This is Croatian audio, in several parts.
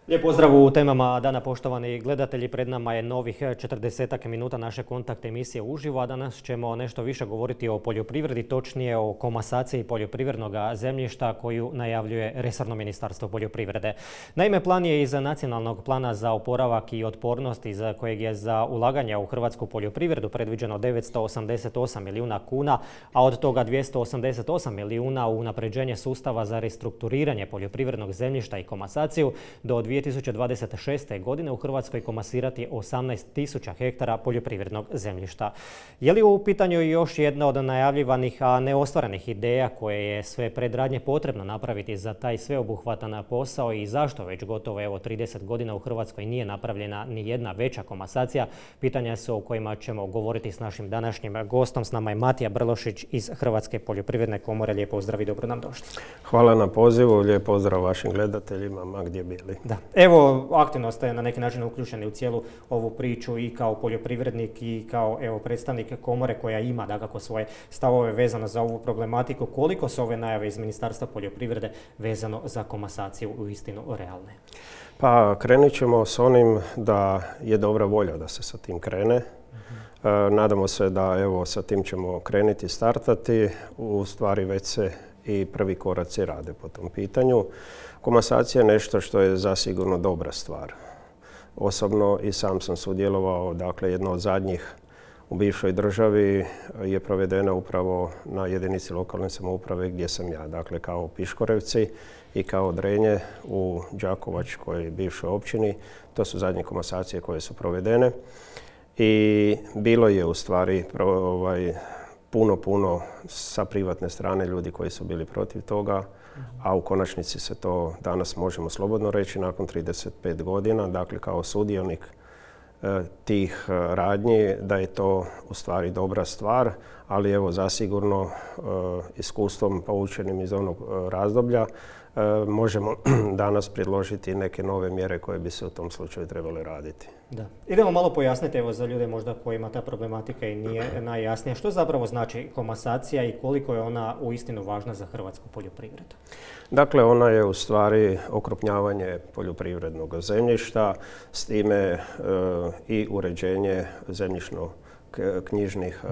Lijep pozdrav u temama dana, poštovani gledatelji. Pred nama je novih 40 minuta naše kontakt emisije uživo, a danas ćemo nešto više govoriti o poljoprivredi, točnije o komasaciji poljoprivrednog zemljišta koju najavljuje resorno Ministarstvo poljoprivrede. Naime, plan je iz Nacionalnog plana za oporavak i otpornost iz kojeg je za ulaganja u hrvatsku poljoprivredu predviđeno 988 milijuna kuna, a od toga 288 milijuna u unapređenje sustava za restrukturiranje poljoprivrednog zemljišta i komasaciju. Do 2026. godine u Hrvatskoj komasirati 18.000 hektara poljoprivrednog zemljišta. Je li u pitanju još jedna od najavljivanih, a neostvarenih ideja koje je sve predradnje potrebno napraviti za taj sveobuhvatan posao i zašto već gotovo 30 godina u Hrvatskoj nije napravljena ni jedna veća komasacija? Pitanja su o kojima ćemo govoriti s našim današnjim gostom. S nama je Matija Brlošić iz Hrvatske poljoprivredne komore. Lijep pozdrav i dobro nam došli. Hvala na pozivu, lijep pozdrav vašim gledateljima, ma gdje bili. Da. Evo, aktivno ste na neki način uključeni u cijelu ovu priču i kao poljoprivrednik i kao predstavnik komore koja ima dakako svoje stavove vezano za ovu problematiku. Koliko su ove najave iz Ministarstva poljoprivrede vezano za komasaciju uistinu realne? Pa krenut ćemo s onim da je dobra volja da se sa tim krene. Nadamo se da sa tim ćemo krenuti, startati. U stvari već se i prvi koraci rade po tom pitanju. Komasacija je nešto što je zasigurno dobra stvar. Osobno i sam sam sudjelovao, dakle jedno od zadnjih u bivšoj državi je provedena upravo na jedinici lokalne samouprave gdje sam ja, dakle kao Piškorevci i kao Drenje u Đakovačkoj bivšoj općini. To su zadnje komasacije koje su provedene i bilo je u stvari puno sa privatne strane ljudi koji su bili protiv toga, a u konačnici se to danas možemo slobodno reći nakon 35 godina, dakle kao sudionik tih radnji, da je to u stvari dobra stvar, ali zasigurno iskustvom poučenim iz onog razdoblja možemo danas predložiti neke nove mjere koje bi se u tom slučaju trebale raditi. Da. Idemo malo pojasniti za ljude možda kojima ta problematika i nije najjasnija. Što zapravo znači komasacija i koliko je ona uistinu važna za hrvatsku poljoprivredu? Dakle, ona je u stvari okrupnjavanje poljoprivrednog zemljišta, s time i uređenje zemljišno-knjižnih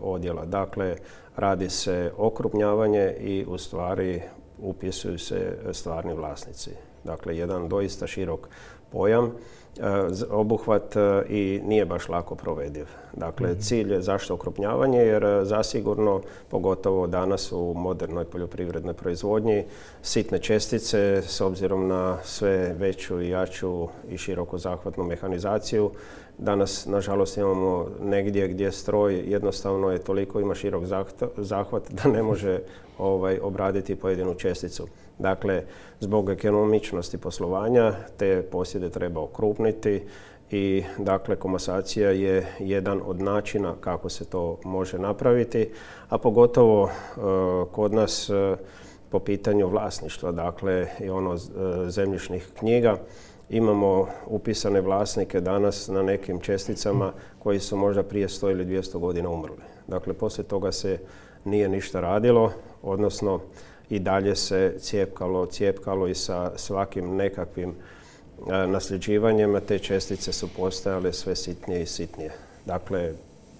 odjela. Dakle, radi se okrupnjavanje i u stvari upisuju se stvarni vlasnici. Dakle, jedan doista širok pojam, obuhvat i nije baš lako provediv. Dakle, cilj je zašto okrupnjavanje, jer zasigurno, pogotovo danas u modernoj poljoprivrednoj proizvodnji, sitne čestice s obzirom na sve veću i jaču i široko zahvatnu mehanizaciju. Danas, nažalost, imamo negdje gdje stroj jednostavno je toliko ima širok zahvat da ne može obraditi pojedinu česticu. Dakle, zbog ekonomičnosti poslovanja te posjede treba okrupniti i dakle komasacija je jedan od načina kako se to može napraviti, a pogotovo kod nas po pitanju vlasništva, dakle i zemljišnih knjiga. Imamo upisane vlasnike danas na nekim česticama koji su možda prije 100 ili 200 godina umrli. Dakle, poslije toga se nije ništa radilo, odnosno i dalje se cijepkalo i sa svakim nekakvim nasljeđivanjem. Te čestice su postajale sve sitnije i sitnije. Dakle,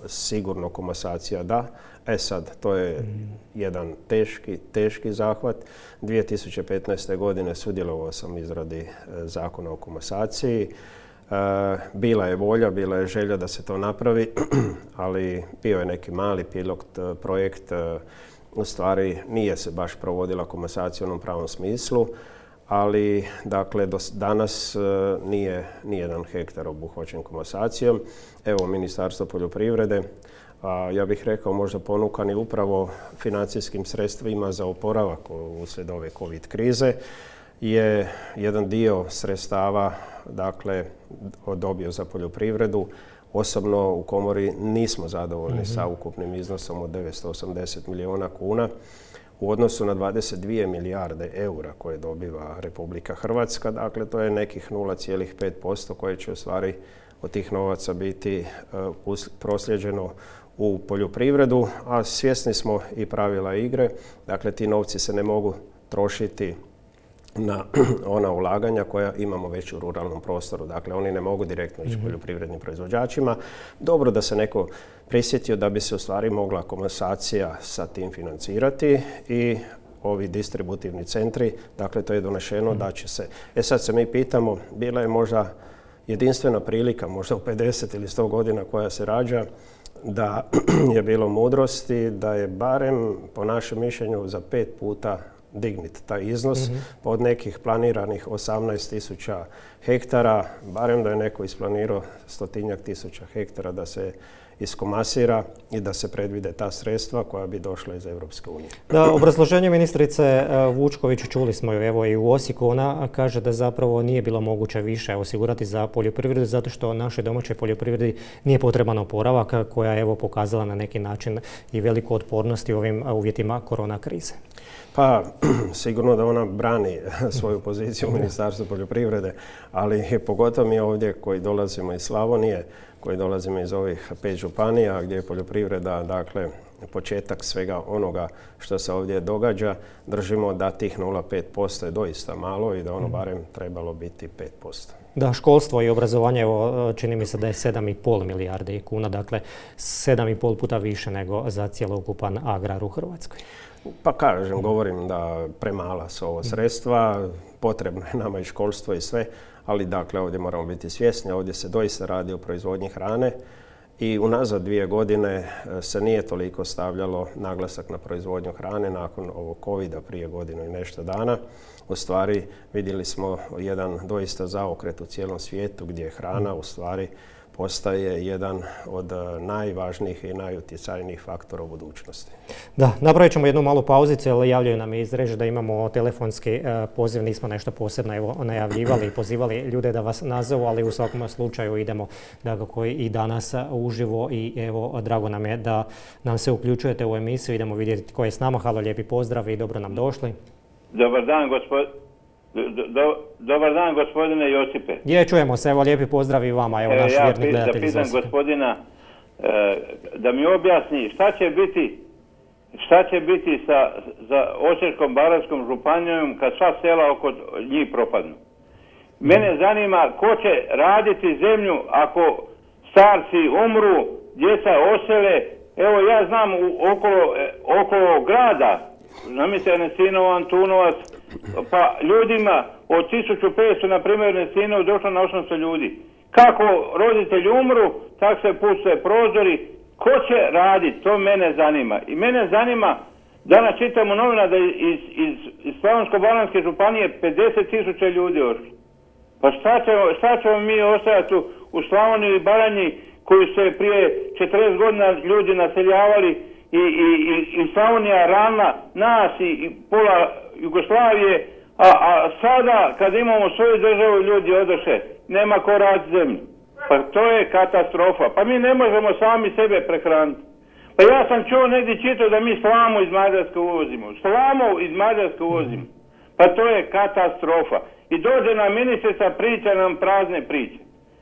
sigurno komasacija da. Sad, to je jedan teški zahvat. 2015. godine sudjelovao sam u izradi zakona o komasaciji. Bila je volja, bila je želja da se to napravi, ali bio je neki mali pilot projekt. U stvari nije se baš provodila komasacija u onom pravom smislu, ali dakle do danas nije nijedan hektar obuhvaćen komasacijom. Evo, Ministarstvo poljoprivrede, ja bih rekao možda ponukani upravo financijskim sredstvima za oporavak uslijed ove COVID krize, je jedan dio sredstava dakle dobio za poljoprivredu. Osobno u komori nismo zadovoljni sa ukupnim iznosom od 980 milijuna kuna u odnosu na 22 milijarde eura koje dobiva Republika Hrvatska. Dakle, to je nekih 0,5% koje će u stvari od tih novaca biti prosljeđeno u poljoprivredu, a svjesni smo i pravila igre. Dakle, ti novci se ne mogu trošiti na ona ulaganja koja imamo već u ruralnom prostoru. Dakle, oni ne mogu direktno ići poljoprivrednim proizvođačima. Dobro da se neko prisjetio da bi se u stvari mogla komasacija sa tim financirati i ovi distributivni centri, dakle to je donešeno da će se. Sad se mi pitamo, bila je možda jedinstvena prilika, možda u 50 ili 100 godina koja se rađa, da je bilo mudrosti, da je barem po našem mišljenju za 5 puta dignit taj iznos od nekih planiranih 18.000 hektara, barem da je neko isplanirao 100.000 hektara da se iskomasira i da se predvide ta sredstva koja bi došla iz Europske unije. Da, obrazloženje ministrice Vučković, čuli smo ju evo i u Osijeku, ona kaže da zapravo nije bilo moguće više osigurati za poljoprivredu zato što našoj domaćoj poljoprivredi nije potreban oporavak koja je evo pokazala na neki način i veliku otpornost u ovim uvjetima korona krize. Pa, sigurno da ona brani svoju poziciju u Ministarstvu poljoprivrede, ali pogotovo mi ovdje koji dolazimo iz Slavonije, koji dolazimo iz ovih 5 županija gdje je poljoprivreda, dakle, početak svega onoga što se ovdje događa, držimo da tih 0,5% je doista malo i da ono barem trebalo biti 5%. Da, školstvo i obrazovanje, evo, čini mi se da je 7,5 milijardi kuna, dakle 7,5 puta više nego za cjelokupan agrar u Hrvatskoj. Pa kažem, govorim da premala su ovo sredstva, potrebno je nama i školstvo i sve, ali dakle ovdje moramo biti svjesni, ovdje se doista radi o proizvodnji hrane i unazad 2 godine se nije toliko stavljalo naglasak na proizvodnju hrane nakon ovog covida prije godinu i nešto dana. U stvari vidjeli smo jedan doista zaokret u cijelom svijetu gdje hrana u stvari postaje jedan od najvažnijih i najutjecajnijih faktora u budućnosti. Da, napravit ćemo jednu malu pauzicu, jer javljaju nam iz režije da imamo telefonski poziv, nismo nešto posebno evo najavljivali i pozivali ljude da vas nazovu, ali u svakom slučaju idemo dakako i danas uživo i evo drago nam je da nam se uključujete u emisiju, idemo vidjeti tko je s nama. Halo, lijepi pozdrav i dobro nam došli. Dobar dan, Dobar dan, gospodine Josipe. Čujemo se, evo lijepi pozdrav i vama, evo naš vjerni gledatelj iz Osijeka. Ja pitam gospodina da mi objasni šta će biti sa Osječko-baranjskom županijom kad sva sela oko njih propadnu. Mene zanima ko će raditi zemlju ako starci umru, djeca osele. Evo ja znam okolo grada, zamislite Nesinovo, Antunovac, pa ljudima od 1500, na primjer, Nesinovo došlo na 800 ljudi. Kako roditelji umru, tak se puste prozori. Ko će raditi? To mene zanima. I mene zanima, danas čitam u novina da iz Slavonsko-baranjske županije 50.000 ljudi ošli. Pa šta ćemo mi ostajati u Slavoniji i Baranji koji se prije 40 godina ljudi naseljavali i Slavonija ravna nas i pola Jugoslavije, a sada kad imamo svoju državu ljudi odoše, nema ko raditi zemlju. Pa to je katastrofa. Pa mi ne možemo sami sebe prehraniti. Pa ja sam čuo negdje čitao da mi slamu iz Mađarske uvozimo. Slamu iz Mađarske uvozimo. Pa to je katastrofa. I dođe nam ministrica, priča nam prazne priče.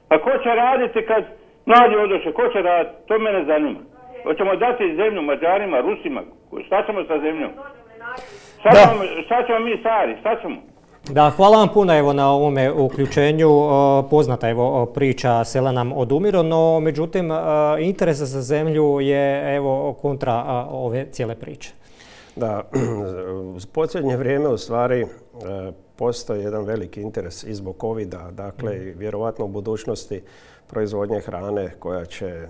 Pa ko će raditi kad mladi odoše? Ko će raditi? To mene zanima. Hoćemo dati zemlju Mađarima, Rusima? Šta ćemo sa zemljom? Šta ćemo mi stari? Šta ćemo? Da, hvala vam puno evo na ovome uključenju. Poznata evo priča sela nam odumiru, no međutim interes za zemlju je evo kontra ove cijele priče. Da, u posljednje vrijeme u stvari postoji jedan veliki interes i zbog covida, dakle vjerovatno u budućnosti proizvodnje hrane koja će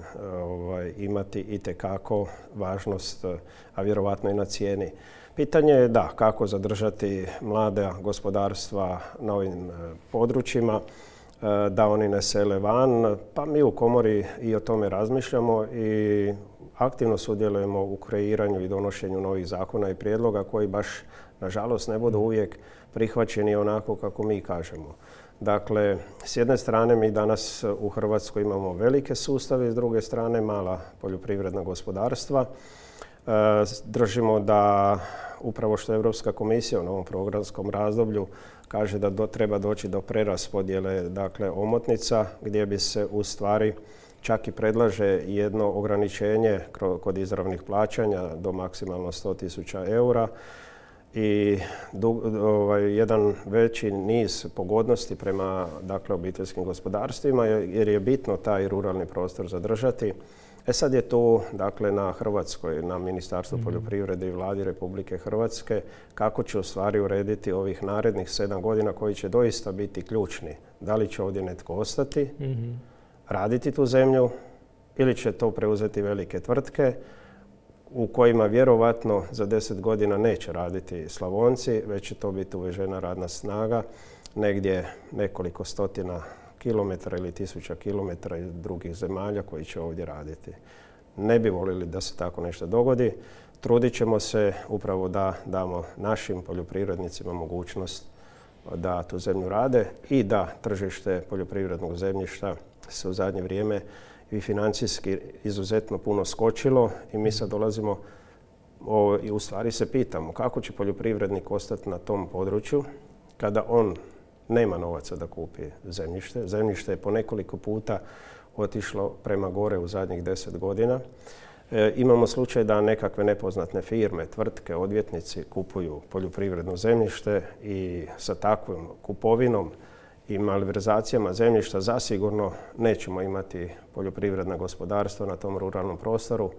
imati itekako važnost, a vjerovatno i na cijeni. Pitanje je da, kako zadržati mlade gospodarstva na ovim područjima, da oni ne sele van. Pa mi u komori i o tome razmišljamo i aktivno sudjelujemo u kreiranju i donošenju novih zakona i prijedloga koji baš, nažalost, ne budu uvijek prihvaćeni onako kako mi kažemo. Dakle, s jedne strane mi danas u Hrvatskoj imamo velike sustave, s druge strane mala poljoprivredna gospodarstva. Držimo da upravo što Europska komisija u novom programskom razdoblju kaže da treba doći do preraspodjele, dakle, omotnica gdje bi se u stvari čak i predlaže jedno ograničenje kod izravnih plaćanja do maksimalno 100.000 eura i jedan veći niz pogodnosti prema obiteljskim gospodarstvima jer je bitno taj ruralni prostor zadržati. Sad je tu na Hrvatskoj, na Ministarstvu poljoprivrede i Vladi Republike Hrvatske kako će u stvari urediti ovih narednih 7 godina koji će doista biti ključni. Da li će ovdje netko ostati, raditi tu zemlju ili će to preuzeti velike tvrtke u kojima vjerovatno za 10 godina neće raditi Slavonci, već će to biti uvežena radna snaga negdje nekoliko stotina kilometara ili tisuća kilometara iz drugih zemalja koji će ovdje raditi. Ne bi voljeli da se tako nešto dogodi. Trudit ćemo se upravo da damo našim poljoprivrednicima mogućnost da tu zemlju rade i da tržište poljoprivrednog zemljišta se u zadnje vrijeme i financijski izuzetno puno skočilo i mi sad dolazimo i u stvari se pitamo kako će poljoprivrednik ostati na tom području kada on nema novaca da kupi zemljište. Zemljište je po nekoliko puta otišlo prema gore u zadnjih 10 godina. Imamo slučaj da nekakve nepoznatne firme, tvrtke, odvjetnici kupuju poljoprivredno zemljište i sa takvom kupovinom i malverzacijama zemljišta zasigurno nećemo imati poljoprivredna gospodarstva na tom ruralnom prostoru,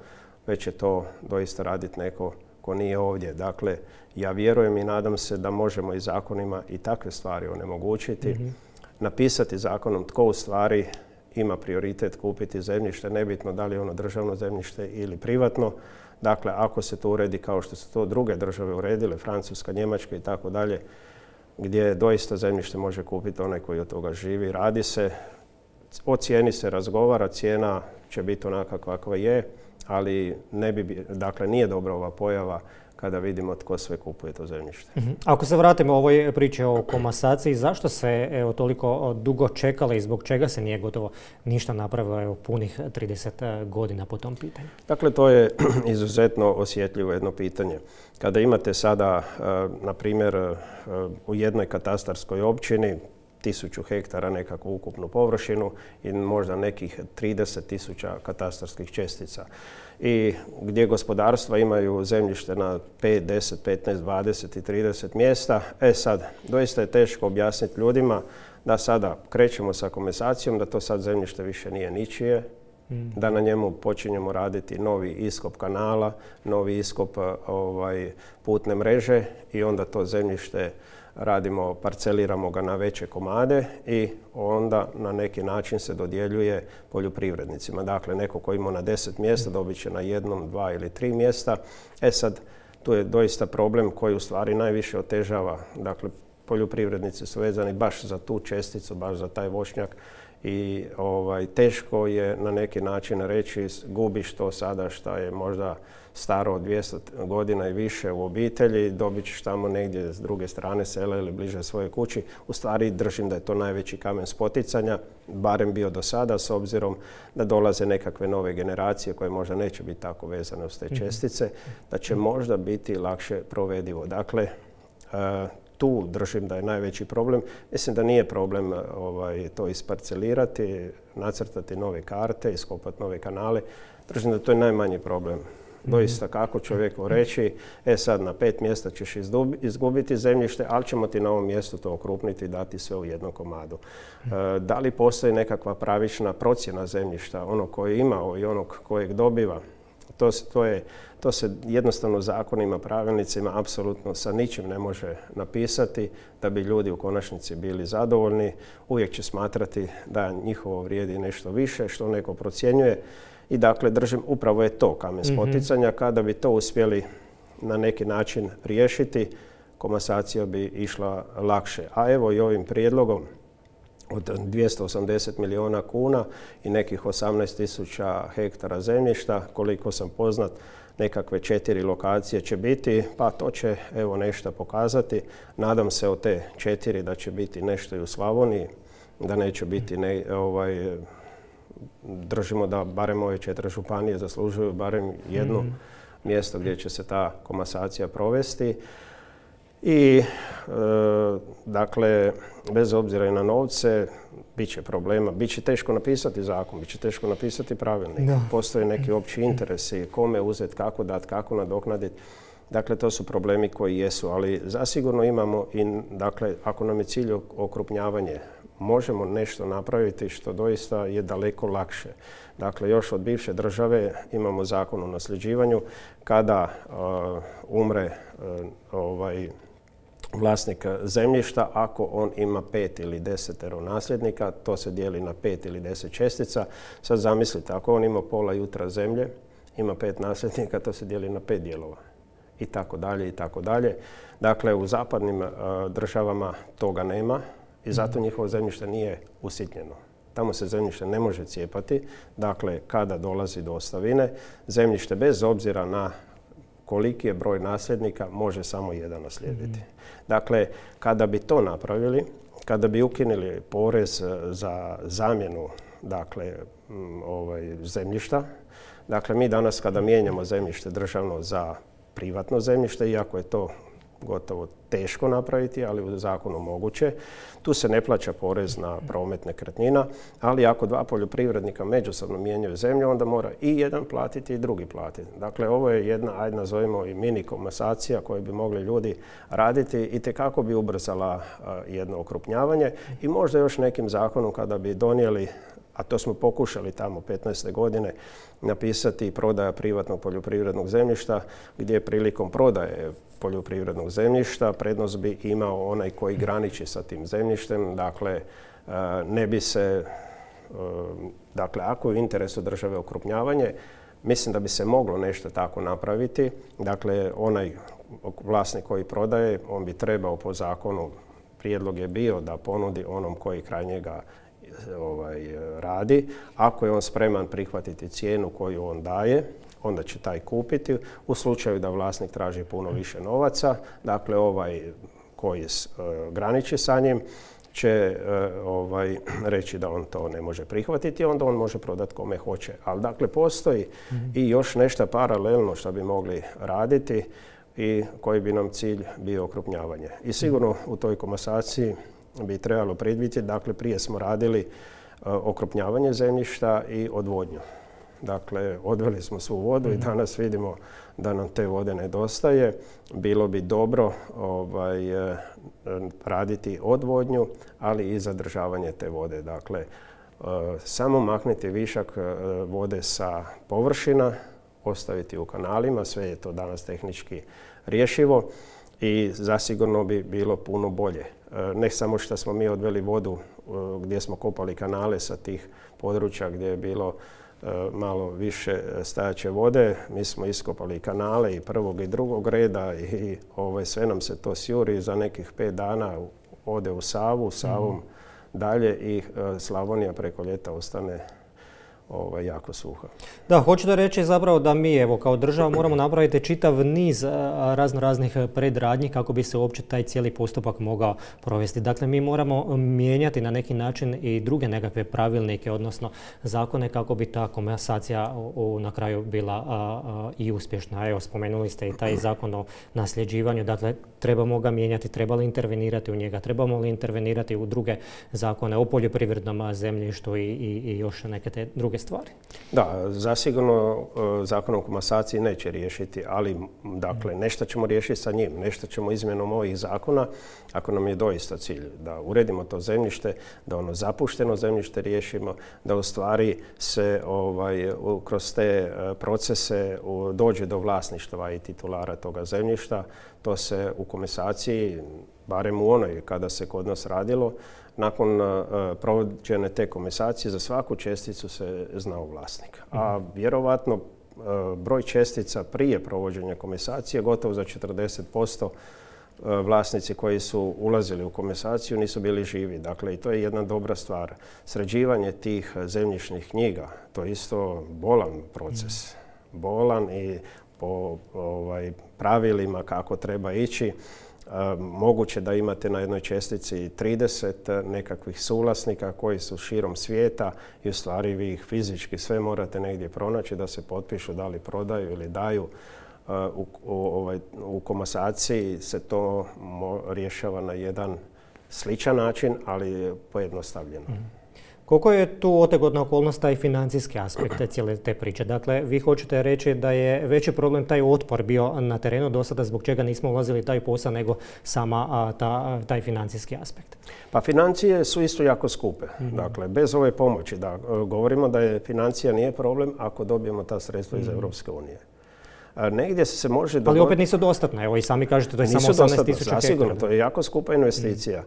već će to doista raditi neko ko nije ovdje. Dakle, ja vjerujem i nadam se da možemo i zakonima i takve stvari onemogućiti. Napisati zakonom tko u stvari ima prioritet kupiti zemljište, nebitno da li je ono državno zemljište ili privatno. Dakle, ako se to uredi kao što su to druge države uredile, Francuska, Njemačka i tako dalje, gdje doista zemljište može kupiti onaj koji od toga živi. Radi se, o cijeni se razgovara, cijena će biti onaka kakva je, ali nije dobra ova pojava kada vidimo tko sve kupuje to zemljište. Ako se vratimo ovoj priči o komasaciji, zašto se toliko dugo čekalo i zbog čega se nije gotovo ništa napravilo punih 30 godina po tom pitanju? Dakle, to je izuzetno osjetljivo jedno pitanje. Kada imate sada, na primjer, u jednoj katastarskoj općini 1000 hektara nekakvu ukupnu površinu i možda nekih 30.000 katastarskih čestica. I gdje gospodarstva imaju zemljište na 5, 10, 15, 20 i 30 mjesta. Sad, doista je teško objasniti ljudima da sada krećemo sa komasacijom, da to sad zemljište više nije ničije, da na njemu počinjemo raditi novi iskop kanala, novi iskop putne mreže i onda to zemljište radimo, parceliramo ga na veće komade i onda na neki način se dodjeljuje poljoprivrednicima. Dakle, neko ko ima na 10 mjesta dobit će na 1, 2 ili 3 mjesta. Sad, tu je doista problem koji u stvari najviše otežava. Dakle, poljoprivrednici su vezani baš za tu česticu, baš za taj voćnjak i teško je na neki način reći gubiš to sada što je možda staro od 200 godina i više u obitelji, dobit ćeš tamo negdje s druge strane sela ili bliže svoje kući. U stvari držim da je to najveći kamen spoticanja, barem bio do sada, s obzirom da dolaze nekakve nove generacije koje možda neće biti tako vezane uz te čestice, da će možda biti lakše provedivo. Dakle, tu držim da je najveći problem. Mislim da nije problem to isparcelirati, nacrtati nove karte, iskopati nove kanale. Držim da to je najmanji problem. Doista kako čovjeku reći, sad na 5 mjesta ćeš izgubiti zemljište, ali ćemo ti na ovom mjestu to okrupniti i dati sve u jednom komadu. Da li postoji nekakva pravična procjena zemljišta, onog koji je imao i onog kojeg dobiva? To se jednostavno zakonima, pravilnicima apsolutno sa ničim ne može napisati da bi ljudi u konačnici bili zadovoljni. Uvijek će smatrati da njihovo vrijedi nešto više što neko procjenjuje. I dakle, držim, upravo je to kamen spoticanja. Kada bi to uspjeli na neki način riješiti, komasacija bi išla lakše. A evo i ovim prijedlogom od 280 milijuna kuna i nekih 18.000 hektara zemljišta, koliko sam poznat, nekakve 4 lokacije će biti, pa to će evo nešto pokazati. Nadam se od te 4 da će biti nešto i u Slavoniji, da neće biti držimo da barem ove 4 županije zaslužuju barem jedno mjesto gdje će se ta komasacija provesti. I dakle, bez obzira i na novce, bit će problema, bit će teško napisati zakon, bit će teško napisati pravilnik. Postoje neki opći interesi, kome uzeti, kako dati, kako nadoknaditi. Dakle, to su problemi koji jesu, ali zasigurno imamo i, dakle, ako nam je cilj okrupnjavanje, možemo nešto napraviti što doista je daleko lakše. Dakle, još od bivše države imamo zakon o nasljeđivanju. Kada umre vlasnik zemljišta, ako on ima 5 ili 10 nasljednika, to se dijeli na 5 ili 10 čestica. Sad zamislite, ako on ima pola jutra zemlje, ima 5 nasljednika, to se dijeli na 5 dijelova. I tako dalje, i tako dalje. Dakle, u zapadnim državama toga nema i zato njihovo zemljište nije usitnjeno. Tamo se zemljište ne može cijepati. Dakle, kada dolazi do ostavine, zemljište bez obzira na koliki je broj nasljednika može samo jedan naslijediti. Dakle, kada bi to napravili, kada bi ukinuli porez za zamjenu, dakle, zemljišta, dakle, mi danas kada mijenjamo zemljište državno za privatno zemljište, iako je to gotovo teško napraviti, ali u zakonu moguće. Tu se ne plaća porez na promet nekretnina, ali ako dva poljoprivrednika međusobno mijenjaju zemlju, onda mora i jedan platiti i drugi platiti. Dakle, ovo je jedna, ajde nazovimo i mini komasacija koju bi mogli ljudi raditi i tekako bi ubrzala jedno okrupnjavanje i možda još nekim zakonom kada bi donijeli, a to smo pokušali tamo 15. godine, napisati prodaja privatnog poljoprivrednog zemljišta, gdje prilikom prodaje poljoprivrednog zemljišta prednost bi imao onaj koji graniči sa tim zemljištem. Dakle, ne bi se, dakle, ako je u interesu države okrupnjavanje, mislim da bi se moglo nešto tako napraviti. Dakle, onaj vlasnik koji prodaje, on bi trebao po zakonu, prijedlog je bio da ponudi onom koji kraj njega radi. Ako je on spreman prihvatiti cijenu koju on daje, onda će taj kupiti. U slučaju da vlasnik traži puno više novaca, dakle ovaj koji graniči sa njim će reći da on to ne može prihvatiti, onda on može prodati kome hoće. Ali dakle postoji i još nešto paralelno što bi mogli raditi i koji bi nam cilj bio okrupnjavanje. I sigurno u toj komasaciji bi trebalo predvidjeti, dakle prije smo radili okrupnjavanje zemljišta i odvodnju. Dakle, odveli smo svu vodu i danas vidimo da nam te vode nedostaje. Bilo bi dobro raditi odvodnju, ali i zadržavanje te vode. Dakle, samo makniti višak vode sa površina, ostaviti u kanalima, sve je to danas tehnički rješivo i zasigurno bi bilo puno bolje. Ne samo što smo mi odveli vodu gdje smo kopali kanale sa tih područja gdje je bilo malo više stajaće vode, mi smo iskopali kanale i prvog i drugog reda i sve nam se to sjuri, za nekih 5 dana ode u Savu, Savom dalje i Slavonija preko ljeta ostane jako suha. Da, hoću da reći zapravo da mi evo kao država moramo napraviti čitav niz raznih predradnji kako bi se uopće taj cijeli postupak mogao provesti. Dakle, mi moramo mijenjati na neki način i druge nekakve pravilnike, odnosno zakone kako bi ta komasacija na kraju bila i uspješna. Evo, spomenuli ste i taj zakon o nasljeđivanju, dakle, trebamo ga mijenjati, treba li intervenirati u njega, trebamo li intervenirati u druge zakone o poljoprivrednom zemljištu i još neke te druge stvari. Da, zasigurno zakon o komasaciji neće riješiti, ali dakle nešto ćemo riješiti sa njim, nešto ćemo izmjenom ovih zakona, ako nam je doista cilj da uredimo to zemljište, da ono zapušteno zemljište riješimo, da u stvari se kroz te procese dođe do vlasništva i titulara toga zemljišta. To se u komasaciji, barem u onoj kada se kod nas radilo, nakon provođene te komasacije za svaku česticu se znao vlasnik. A vjerovatno broj čestica prije provođenja komasacije gotovo za 40% vlasnici koji su ulazili u komasaciju nisu bili živi. Dakle, i to je jedna dobra stvar. Sređivanje tih zemljišnih knjiga, to je isto bolan proces. Bolan i po pravilima kako treba ići. Moguće da imate na jednoj čestici 30 nekakvih suvlasnika koji su širom svijeta i u stvari vi ih fizički sve morate negdje pronaći da se potpišu da li prodaju ili daju. U komasaciji se to rješava na jedan sličan način, ali pojednostavljeno. Koliko je tu otegotna okolnost taj financijski aspekt cijele te priče? Dakle, vi hoćete reći da je veći problem taj otpor bio na terenu do sada zbog čega nismo ulazili taj posao nego sama taj financijski aspekt? Pa financije su isto jako skupe. Dakle, bez ove pomoći, govorimo da je financija nije problem ako dobijemo ta sredstva iz Europske unije. Negdje se može ali opet nisu dostatne, evo i sami kažete to je samo 18.000 hektara. To je jako skupa investicija.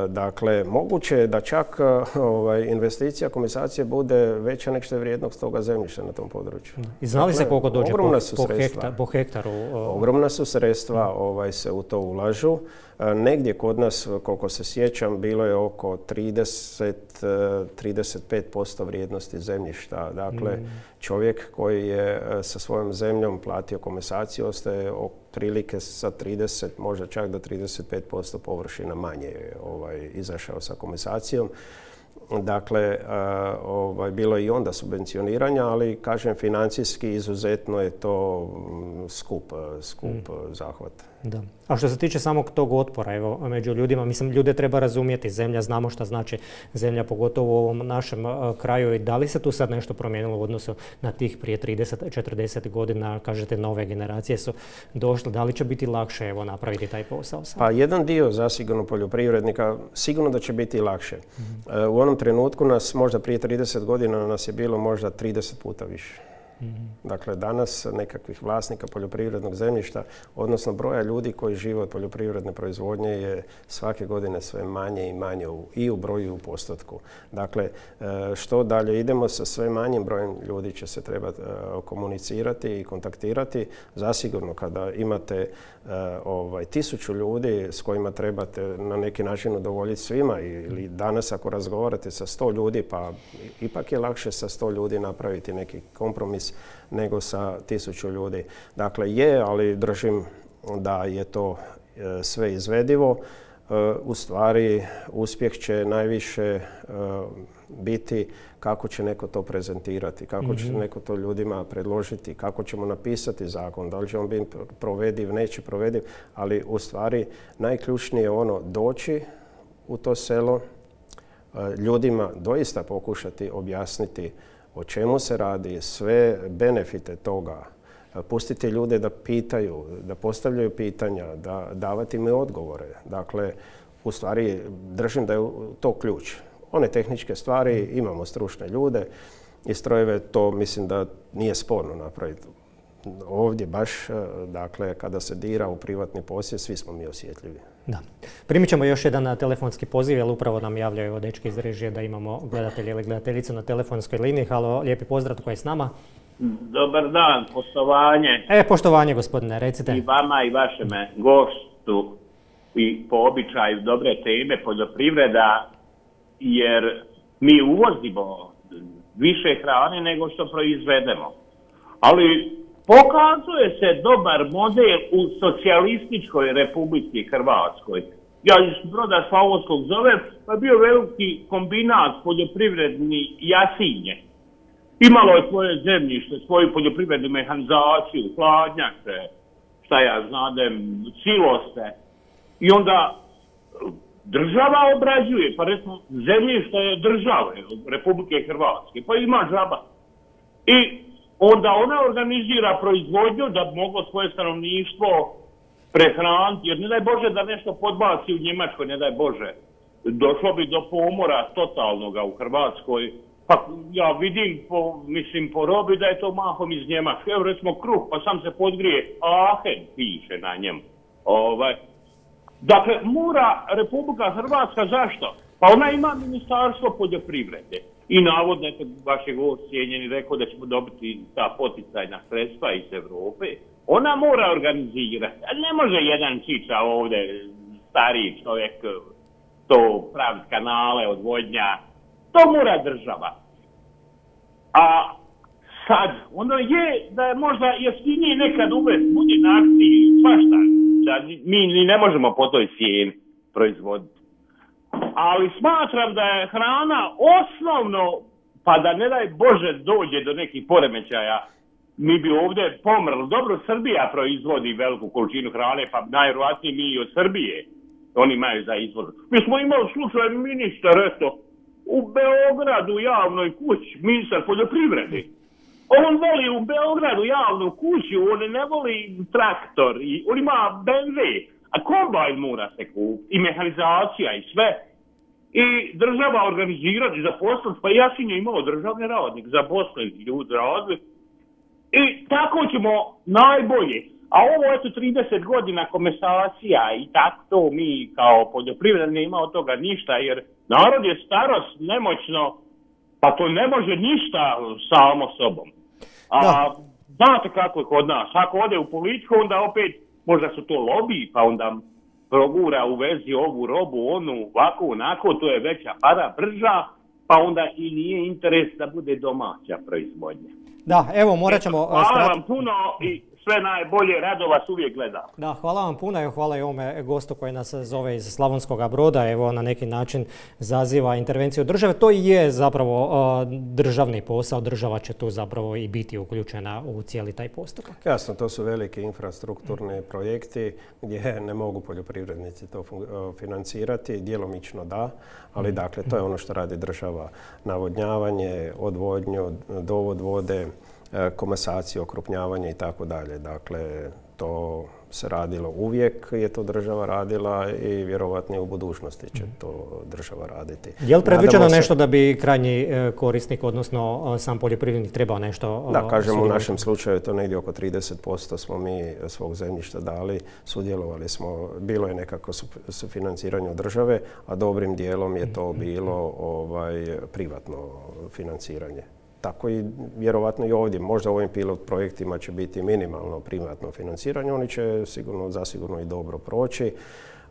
Dakle, moguće je da čak investicija komasacije bude veća nego što je vrijednost toga zemljišta na tom području. I znali se koliko dođe po hektaru? Ogromna su sredstva se u to ulažu. Negdje kod nas, koliko se sjećam, bilo je oko 30-35% vrijednosti zemljišta. Dakle, čovjek koji je sa svojom zemljom platio komasaciju ostaje otprilike sa 30, možda čak do 35% površina manje izašao sa komasacijom. Dakle, bilo je i onda subvencioniranja, ali kažem financijski izuzetno je to skup zahvat. Da. A što se tiče samog tog otpora, evo, među ljudima, mislim, ljude treba razumjeti. Zemlja, znamo šta znači zemlja, pogotovo u ovom našem kraju. I da li se tu sad nešto promijenilo u odnosu na tih prije 30-40 godina, kažete, nove generacije su došle. Da li će biti lakše, evo, napraviti taj posao sad? Pa jedan dio zasigurno poljoprivrednika, sigurno da će biti lakše. U onom trenutku nas, možda prije 30 godina, nas je bilo možda 30 puta više. Dakle, danas nekakvih vlasnika poljoprivrednog zemljišta, odnosno broja ljudi koji žive od poljoprivredne proizvodnje je svake godine sve manje i manje i u broju i u postotku. Dakle, što dalje idemo sa sve manjim brojem ljudi će se trebati komunicirati i kontaktirati. Zasigurno kada imate 1000 ljudi s kojima trebate na neki način udovoljiti svima ili danas ako razgovarate sa 100 ljudi, pa ipak je lakše sa 100 ljudi napraviti neki kompromis nego sa 1000 ljudi. Dakle, ali držim da je to sve izvedivo. U stvari, uspjeh će najviše biti kako će neko to prezentirati, kako će neko to ljudima predložiti, kako ćemo napisati zakon, da li će on biti provediv, neće provediv, ali u stvari najključnije je ono doći u to selo, ljudima doista pokušati objasniti o čemu se radi, sve benefite toga, pustiti ljude da pitaju, da postavljaju pitanja, da davati im odgovore. Dakle, u stvari držim da je to ključ. One tehničke stvari, imamo stručne ljude i strojeve, to mislim da nije sporno napraviti. Ovdje baš, dakle, kada se dira u privatni posjed, svi smo mi osjetljivi. Da. Primit ćemo još jedan telefonski poziv, jer upravo nam javljaju dečki iz režije da imamo gledatelje ili gledateljicu na telefonskoj liniji. Halo, lijepi pozdrav, tko je s nama? Dobar dan, poštovanje. Poštovanje, gospodine, recite. I vama i vašeme gostu i po običaju dobre teme poljoprivreda, jer mi uvozimo više hrane nego što proizvedemo. Ali pokazuje se dobar model u socijalističkoj Republici Hrvatskoj. Ja iz Broda Slavonskog zovem, pa je bio veliki kombinat poljoprivredni Jasinje. Imalo je svoje zemljište, svoju poljoprivrednu mehanizaciju, hladnjače, šta ja znadem, siloste. I onda država obrađuje, pa recimo zemljište je države Republike Hrvatske, pa ima džaba. I onda ona organizira proizvodnju da moglo svoje stanovništvo prehraniti, jer ne daj Bože da nešto podbaci u Njemačkoj, ne daj Bože. Došlo bi do pomora totalnoga u Hrvatskoj. Pa ja vidim po robi da je to mahom iz Njemačke. Evo recimo kruh, pa sam se podgrije, Aachen piše na njemu. Dakle, mora Republika Hrvatska, zašto? Pa ona ima ministarstvo poljoprivrede. I navodno, vašeg cijenjeni rekao da ćemo dobiti ta poticajna sredstva iz Europe. Ona mora organizirati. Ne može jedan čiča ovdje, stariji čovjek, to praviti kanale, odvodnja. To mora država. A sad, ono je da je možda jeftinije nekad uvesti, bude na akciji, svašta, da mi ni ne možemo po toj cijeni proizvoditi. Ali smatram da je hrana osnovno, pa da ne daj Bože dođe do nekih poremećaja, mi bi ovdje pomrli. Dobro, Srbija proizvodi veliku količinu hrane, pa najvjerojatnije mi i od Srbije. Oni imaju za izvoz. Mi smo imali slučaj ministar, eto, u Beogradu javnoj kući, ministar poljoprivrede. On voli u Beogradu javnu kuću, on ne voli traktor, on ima BMW, a kombajn mora se kupiti, i mehanizacija i sve. I država organizirati, zaposliti, pa ja sam imao državni radnik, zaposliti ljudi radili. I tako ćemo najbolje. A ovo eto 30 godina komesacija i tako to mi kao poljoprivredni nema od toga ništa, jer narod je starost, nemoćno, pa to ne može ništa samo sobom. A znate kako je kod nas, ako ode u politiku, onda opet možda su to lobiji, pa onda progura u vezi ovu robu, onu, ovako, onako, to je veća para, brža, pa onda i nije interes da bude domaća proizvodnja. Da, evo morat ćemo... Hvala vam puno i sve najbolje, rado vas uvijek gledam. Da, hvala vam puno i hvala i ovome gostu koji nas zove iz Slavonskog Broda, evo na neki način zaziva intervenciju države. To i je zapravo državni posao, država će tu zapravo i biti uključena u cijeli taj postupak. Jasno, to su veliki infrastrukturni projekti gdje ne mogu poljoprivrednici to financirati, djelomično da, ali dakle to je ono što radi država, navodnjavanje, odvodnju, dovod vode, komasaciju, okrupnjavanje i tako dalje. Dakle, to se radilo uvijek, je to država radila i vjerovatno i u budućnosti će to država raditi. Je li predviđeno nešto da bi krajnji korisnik, odnosno sam poljoprivrednik trebao nešto... Da, kažemo u našem slučaju to negdje oko 30% smo mi svog zemljišta dali, sudjelovali smo, bilo je nekako sufinanciranje države, a dobrim dijelom je to bilo privatno financiranje. Tako i vjerovatno i ovdje, možda u ovim pilot projektima će biti minimalno privatno financiranje, oni će zasigurno i dobro proći,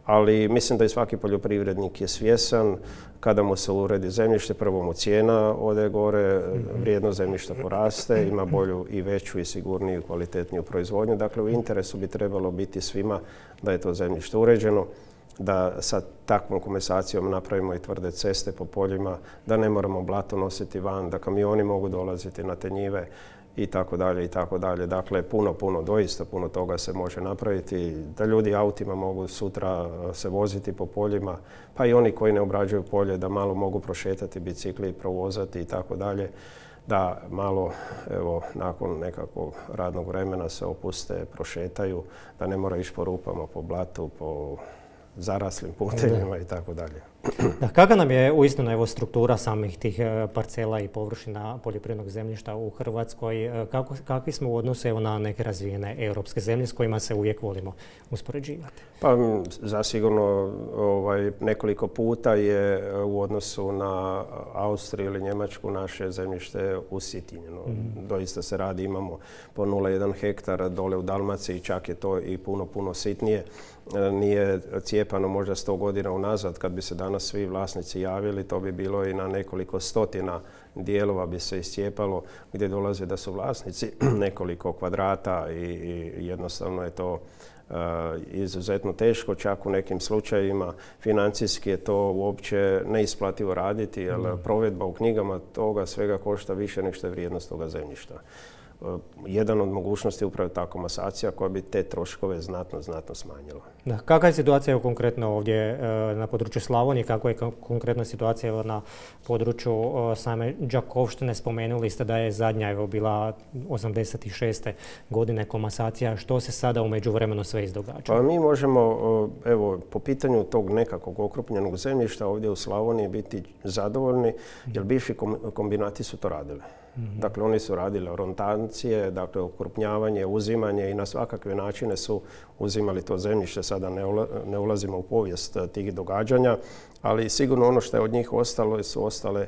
ali mislim da i svaki poljoprivrednik je svjesan kada mu se uredi zemljište, prvo mu cijena ode gore, vrijednost zemljišta poraste, ima bolju i veću i sigurniju i kvalitetniju proizvodnju. Dakle, u interesu bi trebalo biti svima da je to zemljište uređeno, da sa takvom komesacijom napravimo i tvrde ceste po poljima, da ne moramo blato nositi van, da kamioni mogu dolaziti na te njive i tako dalje i tako dalje. Dakle, doista puno toga se može napraviti, da ljudi autima mogu sutra se voziti po poljima, pa i oni koji ne obrađuju polje da malo mogu prošetati bicikli, provozati i tako dalje. Da malo, evo, nakon nekakvog radnog vremena se opuste, prošetaju, da ne mora ići po rupama, po blatu, po zaraslim putevima i tako dalje. Kakva nam je uistinu struktura samih tih parcela i površina poljoprivrednog zemljišta u Hrvatskoj? Kakvi smo u odnosu na neke razvijene europske zemlje s kojima se uvijek volimo uspoređivati? Pa zasigurno nekoliko puta je u odnosu na Austriju ili Njemačku naše zemljište usitnjeno. Doista se radi, imamo po 0,1 hektara dole u Dalmaciji, čak je to i puno sitnije. Nije cijepano možda 100 godina unazad, kad bi se danas svi vlasnici javili, to bi bilo i na nekoliko stotina dijelova bi se iscijepalo, gdje dolaze da su vlasnici nekoliko kvadrata i jednostavno je to izuzetno teško, čak u nekim slučajevima financijski je to uopće neisplativo raditi, jer provedba u knjigama toga svega košta više nego što je vrijednost toga zemljišta. Jedan od mogućnosti je upravo ta komasacija koja bi te troškove znatno smanjila. Kakva je situacija konkretno ovdje na području Slavonije? Kakva je konkretna situacija na području same Đakovštine? Spomenuli ste da je zadnja bila 86. godine komasacija. Što se sada u međuvremenu sve izdogađa? Pa mi možemo, evo, po pitanju tog nekakvog okrupnjenog zemljišta ovdje u Slavoniji biti zadovoljni, jer bivši kombinati su to radili. Dakle, oni su radili orontancije, dakle, okrupnjavanje, uzimanje i na svakakve načine su uzimali to zemljište. Sada ne ulazimo u povijest tih događanja, ali sigurno ono što je od njih ostalo su ostale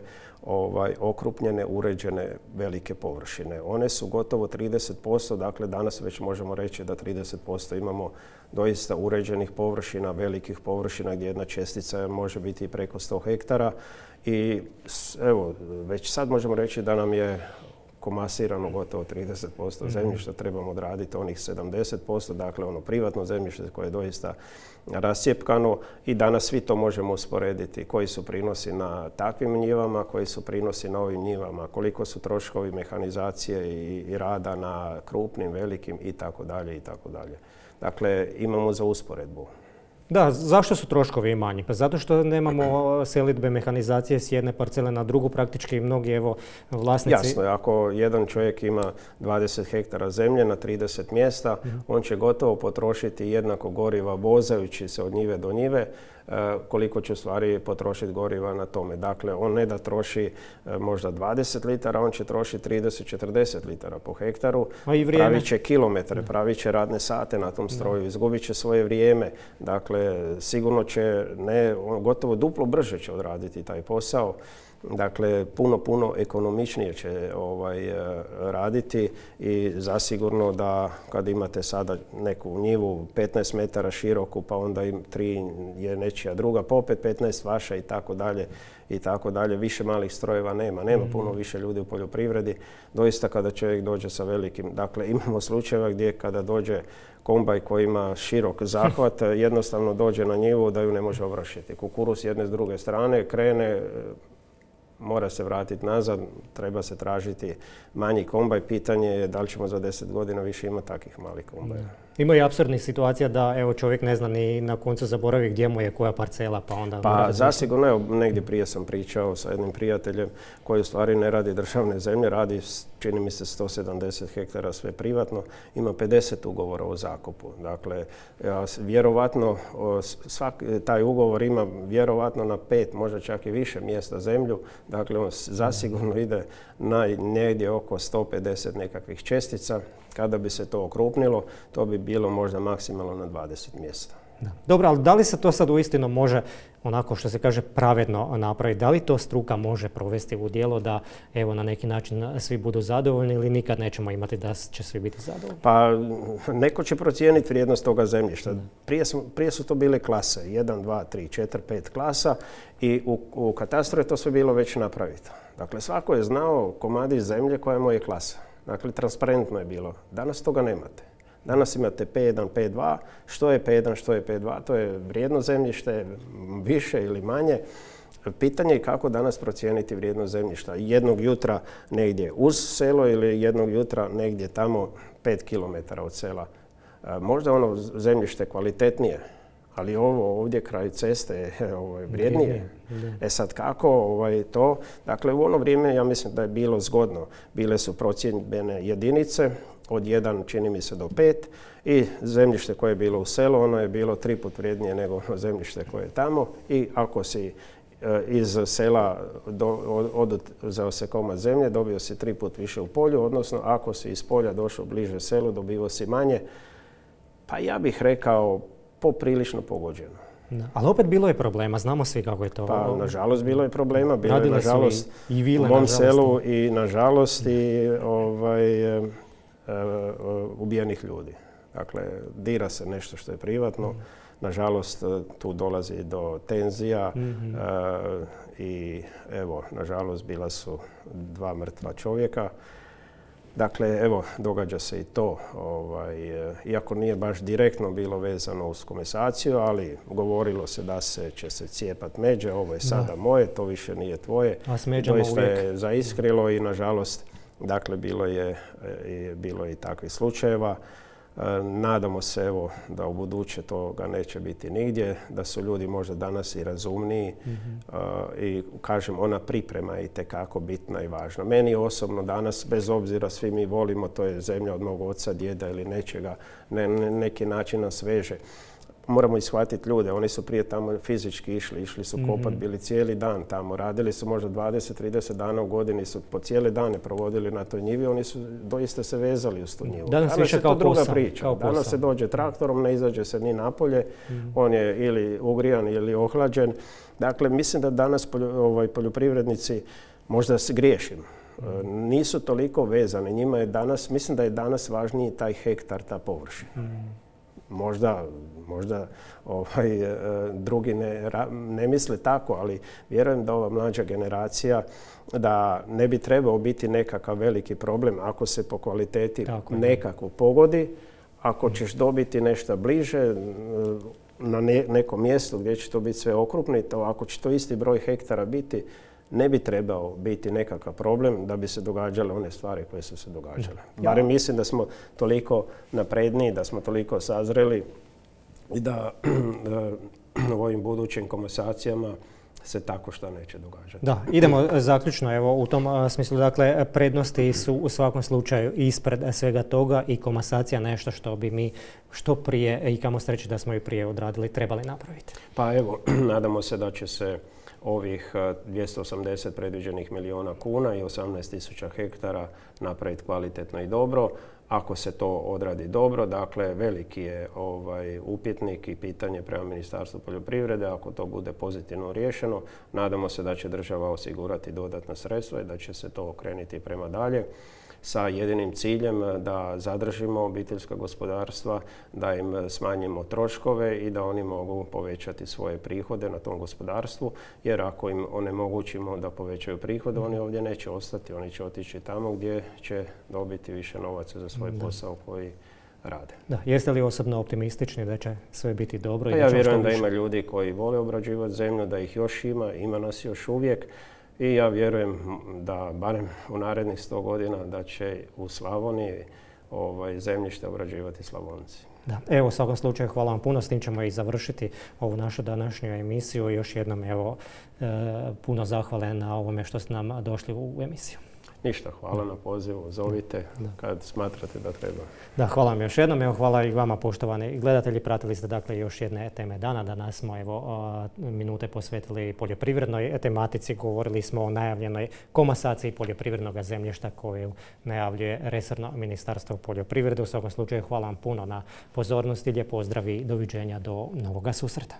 okrupnjene, uređene velike površine. One su gotovo 30%, dakle danas već možemo reći da 30% imamo doista uređenih površina, velikih površina gdje jedna čestica može biti preko 100 hektara. I evo, već sad možemo reći da nam je komasirano gotovo 30% zemljišta, trebamo odraditi onih 70%, dakle ono privatno zemljište koje je doista rascjepkano i danas svi to možemo usporediti. Koji su prinosi na takvim njivama, koji su prinosi na ovim njivama, koliko su troškovi mehanizacije i rada na krupnim, velikim i tako dalje i tako dalje. Dakle, imamo za usporedbu. Da, zašto su troškovi manji? Pa zato što nemamo selidbe, mehanizacije s jedne parcele na drugu, praktički mnogi vlasnici... Jasno, ako jedan čovjek ima 20 hektara zemlje na 30 mjesta, on će gotovo potrošiti jednako goriva vozajući se od njive do njive, koliko će u stvari potrošiti goriva na tome. Dakle, on ne da troši možda 20 litara, on će trošiti 30-40 litara po hektaru. Pravit će kilometre, pravit će radne sate na tom stroju, izgubit će svoje vrijeme. Dakle, sigurno će, gotovo duplo brže će odraditi taj posao. Dakle, puno ekonomičnije će raditi i zasigurno da kad imate sada neku njivu 15 metara široku, pa onda im 3 je nečija druga, pa opet 15 vaša i tako dalje. Više malih strojeva nema puno više ljudi u poljoprivredi. Doista kada čovjek dođe sa velikim, dakle imamo slučajeva gdje kada dođe kombaj koji ima širok zahvat, jednostavno dođe na njivu da ju ne može ovršiti. Kukuruz s jedne s druge strane krene, mora se vratiti nazad, treba se tražiti manji kombaj. Pitanje je da li ćemo za 10 godina više imati takvih malih kombaja. Ima i apsurdnih situacija da čovjek ne zna ni na koncu zaboravi gdje mu je koja parcela, pa onda... Pa zasigurno, evo, negdje prije sam pričao sa jednim prijateljem koji u stvari ne radi državne zemlje, radi, čini mi se, 170 hektara sve privatno, ima 50 ugovora o zakupu. Dakle, vjerovatno, taj ugovor ima vjerovatno na 5, možda čak i više mjesta zemlju. Dakle, on zasigurno ide na negdje oko 150 nekakvih čestica. Kada bi se to okrupnilo, to bi bilo možda maksimalno na 20 mjesta. Da. Dobro, ali da li se to sad uistinu može, onako što se kaže, pravedno napraviti? Da li to struka može provesti u djelo da na neki način svi budu zadovoljni ili nikad nećemo imati da će svi biti zadovoljni? Pa neko će procijeniti vrijednost toga zemljišta. Prije su to bile klase, 1, 2, 3, 4, 5 klasa i u katastru je to sve bilo već napravito. Dakle, svako je znao komadić zemlje koja mu je klasa. Dakle, transparentno je bilo. Danas toga nemate. Danas imate P1, P2. Što je P1, što je P2? To je vrijedno zemljište, više ili manje. Pitanje je kako danas procijeniti vrijednost zemljišta. Jednog jutra negdje uz selo ili jednog jutra negdje tamo 5 km od sela. Možda ono zemljište kvalitetnije, ali ovo ovdje kraj ceste je vrijednije. Sad kako to? Dakle, u ono vrijeme ja mislim da je bilo zgodno. Bile su procijenjene jedinice od 1, čini mi se, do 5 i zemljište koje je bilo u selu, ono je bilo 3 put vrijednije nego ono zemljište koje je tamo i ako si iz sela uzeo se komad zemlje, dobio si 3 put više u polju, odnosno ako si iz polja došao bliže selu, dobio si manje. Pa ja bih rekao poprilično pogođeno. Da. Ali opet bilo je problema, znamo svi kako je to. Pa, nažalost, bilo je problema. Bilo je, nažalost, u mom selu i, nažalost, i ubijenih ljudi. Dakle, dira se nešto što je privatno. Nažalost, tu dolazi do tenzija i, evo, nažalost, bila su 2 mrtva čovjeka. Dakle, evo, događa se i to, iako nije baš direktno bilo vezano uz komasaciju, ali govorilo se da će se cijepat međe, ovo je sada moje, to više nije tvoje. A s međama doista uvijek je zaiskrilo i, nažalost, dakle, bilo je i takvih slučajeva. Nadamo se, evo, da u buduće toga neće biti nigdje, da su ljudi možda danas i razumniji i, kažem, ona priprema je itekako bitna i važna. Meni osobno danas, bez obzira, svi mi volimo, to je zemlja od mog oca, djeda ili nečega, neki način nas veže. Moramo ishvatiti ljude, oni su prije tamo fizički išli su kopat, bili cijeli dan tamo, radili su možda 20-30 dana u godini, su po cijele dane provodili na toj njivi, oni su doista se vezali uz tu njivu. Danas je to druga priča. Danas se dođe traktorom, ne izađe se ni napolje, on je ili ugrijan ili ohlađen. Dakle, mislim da danas poljoprivrednici, možda se griješim, nisu toliko vezani. Njima je danas, mislim da je danas važniji taj hektar, ta površina. Možda drugi ne misle tako, ali vjerujem da ova mlađa generacija da ne bi trebao biti nekakav veliki problem ako se po kvaliteti nekako pogodi. Ako ćeš dobiti nešto bliže na nekom mjestu gdje će to biti sve okrupnito, ako će to isti broj hektara biti, ne bi trebao biti nekakav problem da bi se događale one stvari koje su se događale. Barem mislim da smo toliko napredniji, da smo toliko sazreli i da u ovim budućim komasacijama se tako što neće događati. Da, idemo zaključno evo u tom smislu, dakle prednosti su u svakom slučaju ispred svega toga i komasacija nešto što bi mi što prije i kamo sreće da smo i prije odradili trebali napraviti. Pa evo, nadamo se da će se ovih 280 predviđenih milijuna kuna i 18.000 hektara napraviti kvalitetno i dobro. Ako se to odradi dobro, dakle veliki je upitnik i pitanje prema Ministarstvu poljoprivrede. Ako to bude pozitivno riješeno, nadamo se da će država osigurati dodatna sredstva i da će se to okrenuti prema dalje sa jedinim ciljem da zadržimo obiteljska gospodarstva, da im smanjimo troškove i da oni mogu povećati svoje prihode na tom gospodarstvu, jer ako im onemogućimo da povećaju prihode, oni ovdje neće ostati, oni će otići tamo gdje će dobiti više novaca za svoj posao koji rade. Da, jeste li osobno optimistični da će sve biti dobro? Ja vjerujem da ima ljudi koji vole obrađivati zemlju, da ih još ima nas još uvijek. I ja vjerujem da barem u narednih 100 godina da će u Slavoniji zemljište obrađivati Slavonci. Da, evo u svakom slučaju hvala vam puno, s tim ćemo i završiti ovu našu današnju emisiju. Još jednom evo puno zahvale na ovome što ste nam došli u emisiju. Ništa, hvala na pozivu, zovite kad smatrate da treba. Da, hvala vam još jednom, evo hvala i vama poštovani gledatelji, pratili ste dakle još jedne teme dana. Danas smo evo minute posvetili poljoprivrednoj tematici, govorili smo o najavljenoj komasaciji poljoprivrednog zemljišta koju najavljuje resorno Ministarstvo poljoprivrede. U svakom slučaju hvala vam puno na pozornosti, lijep pozdrav i doviđenja do novoga susreta.